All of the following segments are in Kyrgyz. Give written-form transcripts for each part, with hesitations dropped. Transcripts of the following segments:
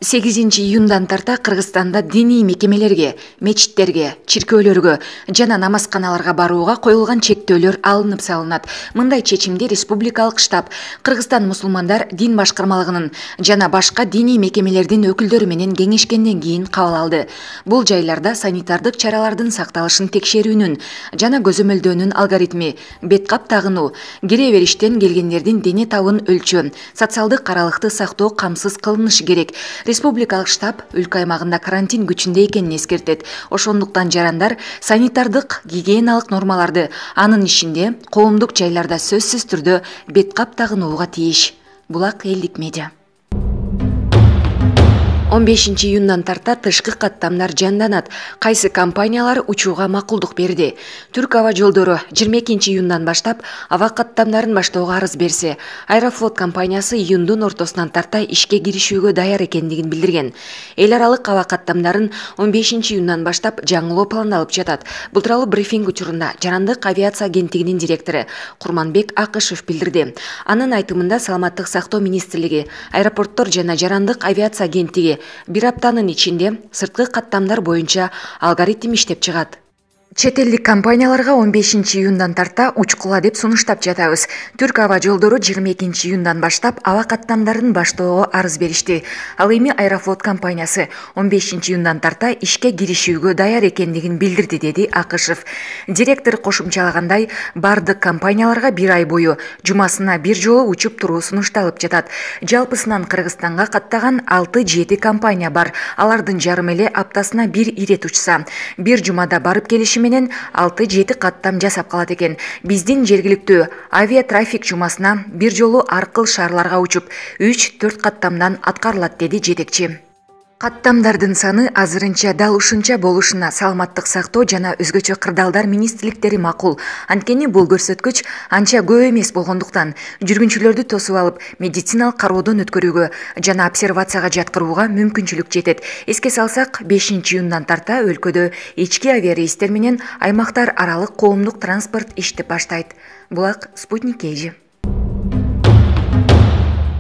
8-июндан тарта Кыргызстанда диний мекемелерге, мечиттерге, чиркөөлөргө жана намазканаларга барууга коюлган чектөөлөр алынып салынат. Мындай чечимди Республикалык штаб Кыргызстан мусулмандар дин башкармалыгынын жана башка диний мекемелердин өкүлдөрү менен кеңешкенден кийин кабыл алды. Бул жайларда санитардык чаралардын сакталышын текшерүүнүн жана көзөмөлдөөнүн алгоритми, бет кап тагынуу, кире бериштен келгендердин дене табын өлчөө, социалдык аралыкты сактоо камсыз кылынышы керек. Республикалык штаб өлкө аймагында карантин күчүндө экенин эскертет. Ошондуктан жарандар санитардык гигиеналык нормаларды, анын ичинде коомдук жайларда сөзсүз түрдө бет кап тагынууга тийиш. Булак элдик медиа. 15-июндан тарта тышкы каттамдар жанданат. Кайсы компаниялар учууга макулдук берди. Түрк аба жолдору 22-июндан баштап аба каттамдарын баштоого арыз берсе, Аэрофлот компаниясы июндун ортосунан тарта ишке киришүүгө даяр экендигин билдирген. Эл аралык аба каттамдарын 15-июндан баштап жаңылоо пландалып жатат. Бул тууралуу брифинг учурунда Жарандык авиация агенттигинин директору Курманбек Акышев билдирди. Анын айтымында Саламаттык сактоо министрлиги, аэропорттор жана Жарандык авиация агенттиги бир аптанын ичинде сырткы каттамдар боюнча алгоритм иштеп чыгат. Чет элдик компанияларга 15-июндан тарта учкула деп сунуштап жатабыз. Түрк аба жолдору 22-июндан баштап аба каттамдарын баштоого арыз беришти. Ал эми Аэрофлот компаниясы 15-июндан тарта ишке киришүүгө даяр экендигин билдирди, деди Акышев. Директор кошумчалагандай, бардык компанияларга бир ай бою жумасына бир жолу учуп туруу сунушталып жатат. Жалпысынан Кыргызстанга каттаган 6-7 компания бар. Алардын жарым эле аптасына бир ирет учса, бир жумада барып келиши менен 6-7 каттам жасап калат экен. Биздин жергиликтүү авиатрафик жумасына бир жолу аркыл шаарларга учуп 3-4 каттамдан аткарылат, деди жетекчи. Каттамдардын саны азырынча дал ушунча болушуна Саламаттык сактоо жана өзгөчө кырдаалдар министрликтери макул. Анткени бул көрсөткүч анча көп эмес болгондуктан жүргүнчүлөрдү тосуп алып медициналык кароодон өткөрүүгө жана обсервацияга жаткырууга мүмкүнчүлүк жетет. Эске салсак, 5-июндан тарта өлкөдө ички авиарейстер менен аймактар аралык коомдук транспорт иштеп баштайт. Булак Спутник KG.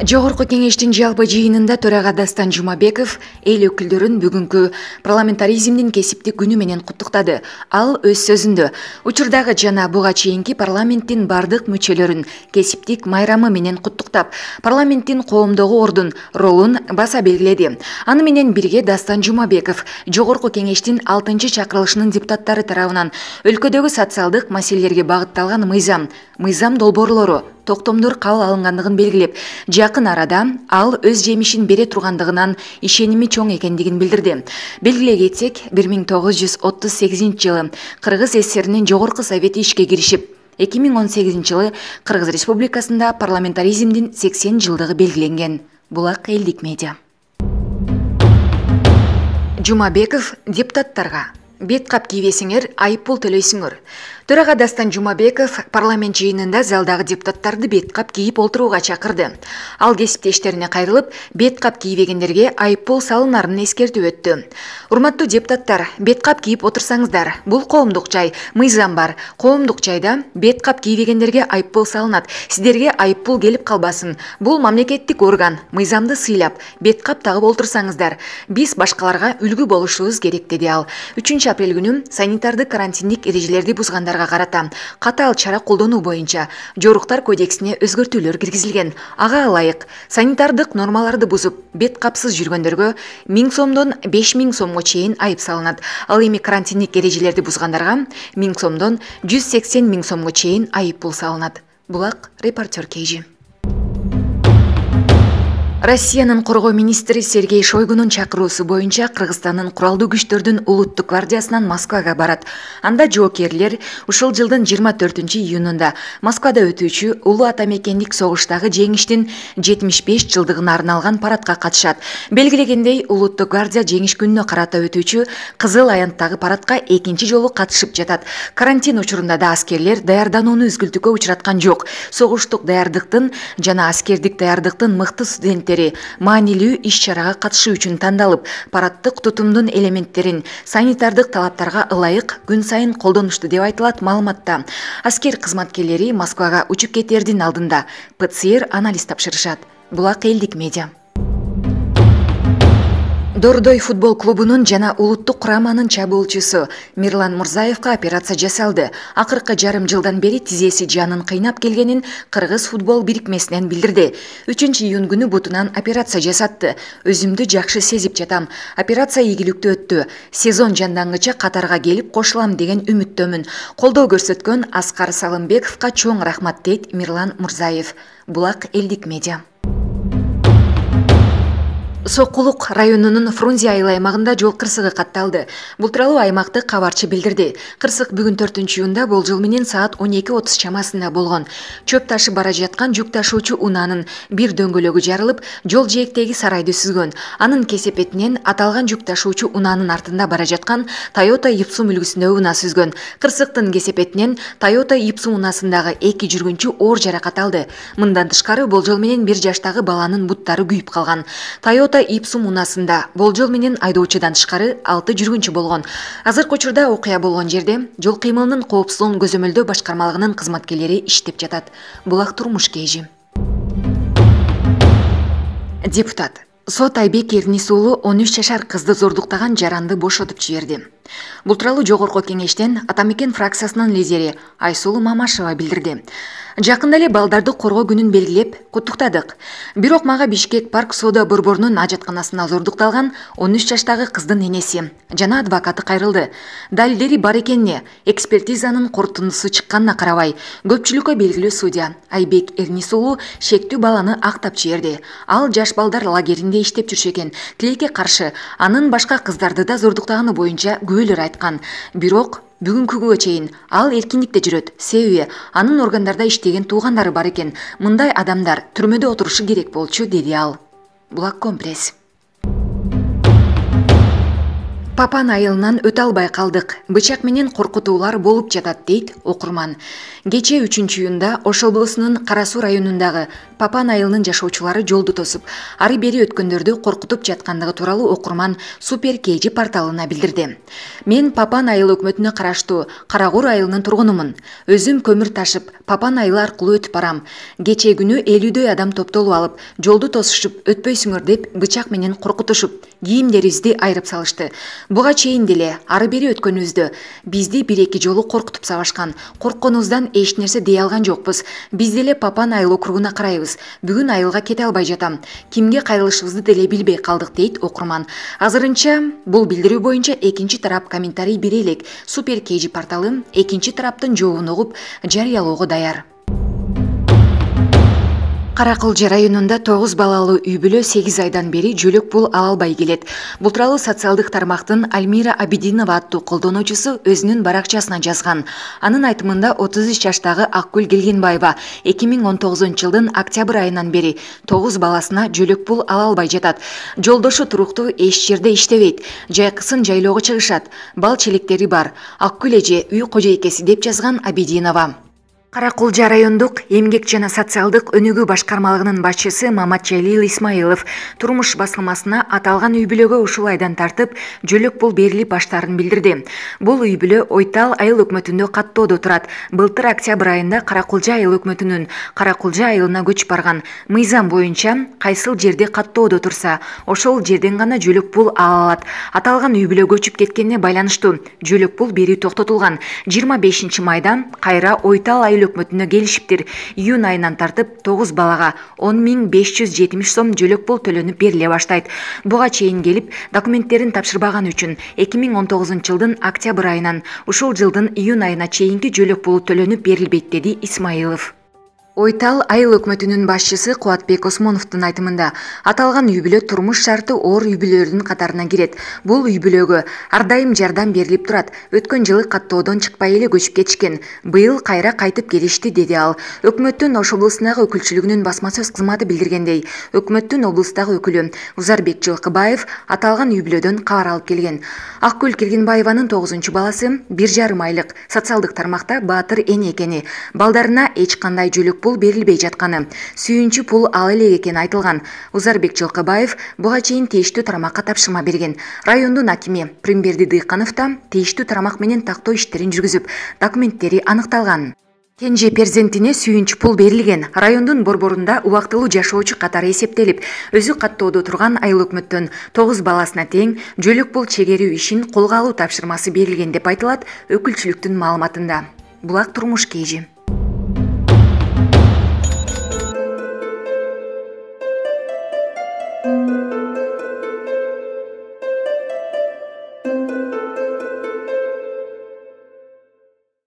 Жогорку кеңештин жалпы жыйынында төрага Дастан Жумабеков эл өкүлдөрүн бүгүнкү парламентаризмдин кесиптик күнү менен куттуктады. Ал өз сөзүндө учурдагы жана буга чейинки парламенттин бардык мүчөлөрүн кесиптик майрамы менен куттуктап, парламенттин коомдогу ордун, ролун баса белгиледи. Аны менен бирге Дастан Жумабеков жогорку кеңештин 6-чакырылышынын депутаттары тарабынан өлкөдөгү социалдык маселелерге багытталган мыйзам долбоорлору, токтомдор кабыл алынгандыгын белгилеп, жакын арада ал өз жемишин бере тургандыгынан ишеними чоң экендигин билдирди. Белгилей кетсек, 1938-жылы Кыргыз ССРнин жогорку совети ишке киришип, 2018-жылы Кыргыз Республикасында парламентаризмдин 80 жылдыгы белгиленген. Булак элдик медиа. Жумабеков депутаттарга: бет кап кийбесиңер, айыппул төлөйсүңөр. Төрага Дастан Жумабеков парламент жыйынында залдагы депутаттарды бет кап кийип олтурууга чакырды. Ал кесиптештерине кайрылып, бет кап кийбегендерге айыппул салынарын эскертип өттү. Урматтуу депутаттар, бет кап кийип отурсаңыздар, бул коомдук жай, мыйзам бар. Коомдук жайда бет кап кийбегендерге айыппул салынат. Сиздерге айыппул келип калбасын. Бул мамлекеттик орган, мыйзамды сыйлап, бет кап тагып олтурсаңыздар, биз башкаларга үлгү болушубуз керек, деди ал. 3-апрель күнү санитардык карантиндик эрежелерди бузгандарга карата катаал чара колдонуу боюнча жоруктар кодексине өзгөртүүлөр киргизилген. Ага ылайык санитардык нормаларды бузуп, бет капсыз жүргөндөргө 1000 сомдон 5000 сомго чейин айып салынат. Ал эми карантиндик эрежелерди бузгандарга 1000 сомдон 180 000 сомго чейин айыппул салынат. Булак Репортер KG. Россиянын коргоо министри Сергей Шойгунун чакыруусу боюнча Кыргызстандын куралдуу күчтөрдүн улуттук гвардиясынан Москвага барат. Анда жоокерлер ушул жылдын 24-июнунда Москвада өтүүчү улуу атамекендик согуштагы жеңиштин 75 жылдыгына арналган парадка катышат. Белгилегендей, улуттук гвардия жеңиш күнүнө карата өтүүчү кызыл аянттагы парадка экинчи жолу катышып жатат. Карантин учурунда да аскерлер даярданууну үзгүлтүккө учураткан жок. Согуштук даярдыктын жана аскердик даярдыктын мыкты студенттери маанилүү иш-чарага катышуу үчүн тандалып, параддык тутумдун элементтерин санитардык талаптарга ылайык күн сайын колдонушту деп айтылат маалыматта. Аскер кызматкерлери Москвага учуп кетердин алдында ПЦР анализ тапшырышат. Булак элдик медиа. Дордой футбол клубунун жана улуттук кураманын чабуулчусу Мирлан Мурзаевка операция жасалды. Акыркы жарым жылдан бери тизеси жанын кыйнап келгенин Кыргыз футбол бирикмесинен билдирди. 3-июнь күнү бутунан операция жасатты. Өзүмдү жакшы сезип жатам. Операция ийгиликтүү өттү. Сезон жандангыча катарга келип кошулам деген үмүттөмүн. Колдоо көрсөткөн Аскар Салымбековго чоң рахмат дейт Мирлан Мурзаев. Булак элдик медиа. Сокулук районунун Фрунзе айыл аймагында жол кырсыгы катталды. Бул тууралуу аймактык кабарчы билдирди. Кырсык бүгүн 4-июнда болжол менен саат 12:30 чамасында болгон. Чөп ташып бара жаткан жүк ташуучу унаанын бир дөңгөлөгү жарылып, жол жээктеги сарайды сүзгөн. Анын кесепетинен аталган жүк ташуучу унаанын артында бара жаткан Toyota Ipsum үлгүсүндөгү унаа сүзгөн. Кырсыктын кесепетинен Toyota Ipsum унаасындагы 2 жүргүнчү оор жаракат алды. Мындан тышкары болжол менен 1 жаштагы баланын буттары күйүп калган. Toyota Ipsum унаасында болжол менен айдоочудан тышкары 6 жүргүнчү болгон. Азыркы учурда окуя болгон жерде жол кыймылынын коопсуздугун көзөмөлдөө башкармалыгынын кызматкерлери иштеп жатат. Булак турмуш кежи. Депутат Сот Айбек Эрнис уулу 13 жашар кызды зордуктаган жаранды бошотуп жиберди. Бул тууралуу жогорку кеңештен Атамекен фракциясынын лидери Айсулуу Мамашева билдирди. Жакында эле балдарды коргоо күнүн белгилеп куттуктадык. Бирок мага Бишкек парк соода борборунун ажатканасында зордукталган 13 жаштагы кыздын энеси жана адвокаты кайрылды. Далилдери бар экенине, экспертизанын корутундусу чыкканына карабай, көпчүлүккө белгилүү судья Айбек Эрнис уулу шектүү баланы актап жиберди. Ал жаш балдар лагеринде иштеп жүрчү экен. Тилекке каршы анын башка кыздарды да зордуктаганы боюнча күбөлөр айткан. Бирок бүгүнкү күнгө чейин ал эркиндикте жүрөт. Себеби анын органдарда иштеген туугандары бар экен. Мындай адамдар түрмөдө отурушу керек болчу, деди ал. Булак компресс. Папан айылынан өтө албай калдык. Бычак менен коркутуулар болуп жатат, дейт окурман. Кечээ 3-июнда Ош облусунун Кара Суу районундагы Папан айылынын жашоочулары жолду тосуп, ары бери өткөндөрдү коркутуп жаткандыгы тууралуу окурман Супер Кежи порталына билдирди. Мен Папан айыл өкмөтүнө караштуу Карагур айылынын тургунумун. Өзүм көмүр ташып, Папан айылы аркылуу өтүп барам. Кечээ күнү 50дөй адам топтолуп алып, жолду тосушуп, өтпөйсүңөр деп бычак менен коркутушуп, кийимдерибизди айырып салышты. Буга чейин деле ары бери өткөнүбүздө бизди 1-2 жолу коркутуп сабашкан. Коркконубуздан эч нерсе дей алган жокпуз. Биз деле Папан айыл округуна карайбыз. Бүгүн айылга кете албай жатам. Кимге кайрылышыбызды деле билбей калдык, дейт окурман. Азырынча бул билдирүү боюнча экинчи тарап комментарий бере элек. Супер Кежи порталы экинчи тараптын жообун угуп жарыялоого даяр. Каракылжы районунда 9 балалуу үй бүлө 8 айдан бери жөлөк пул ала албай келет. Бул тууралуу социалдык тармактын Альмира Абидинова аттуу колдонуучусу өзүнүн баракчасына жазган. Анын айтымында 33 жаштагы Акгүл Келгенбаева 2019 жылдын октябрь айынан бери 9 баласына жөлөк пул ала албай жатат. Жолдошу туруктуу эч жерде иштебейт. Жайкысын жайлоого чыгышат. Бал челектери бар. Акгүл эже үй кожойкеси, деп жазган Абидинова. Каракулжа райондук эмгек жана социалдык өнүгүү башкармалыгынын башчысы Маматжалил Исмаилов турмуш басылмасына аталган үй бүлөгө ушул айдан тартып жөлөк пул берилип баштаарын билдирди. Бул үй бүлө Ойтал айыл өкмөтүндө каттоодо турат. Былтыр октябрь айында Каракулжа айыл өкмөтүнүн Каракулжа айылына көчүп барган. Мыйзам боюнча кайсыл жерде каттоодо турса, ошол жерден гана жөлөк пул ала алат. Аталган үй бүлө көчүп кеткенине байланыштуу жөлөк пул берүү токтотулган. 25 майда кайра Ойтал айыл өкмөтүнө келишиптир. Июнь айынан тартып 9 балага 10.570 сом жөлөк пул төлөнүп бериле баштайт. Буга чейин келип документтерин тапшырбаган үчүн 2019 жылдын октябрь айынан ушул жылдын июнь айына чейинки жөлөк пулу төлөнүп берилбейт, деди Исмаилов. Ойтал айыл өкмөтүнүн башчысы Кубатбек Осмоновдун айтымында аталган үй бүлө турмуш шарты оор үй бүлөлөрдүн катарына кирет. Бул үй бүлөгө ар дайым жардам берилип турат. Өткөн жылы каттоодон чыкпай эле көчүп кетишкен. Быйыл кайра кайтып келишти, деди ал. Өкмөттүн Ош облусундагы өкүлчүлүгүнүн басма сөз кызматы билдиргендей, өкмөттүн облустагы өкүлү Узарбек Жылкыбаев аталган үй бүлөдөн кабар алып келген. Акгүл Келгенбаеванын 9 баласы 1,5 айлык социалдык тармакта баатыр эне экени, балдарына эч кандай жөлөк пул берилбей жатканы, сүйүнчү пул ала элек экени айтылган. Узарбек Жылкыбаев буга чейин тийиштүү тармакка тапшырма берген. Райондун акими Примберди Дыйканов да тийиштүү тармак менен тактоо иштерин жүргүзүп, документтери аныкталган. Кенже перзентине сүйүнч пул берилген. Райондун борборунда убактылуу жашоочу катары эсептелип, өзү каттоодо турган айыл өкмөттөн 9 баласына тең жөлөк пул чегерүү ишин колго алуу тапшырмасы берилген деп айтылат өкүлчүлүктүн маалыматында. Булак турмуш KG.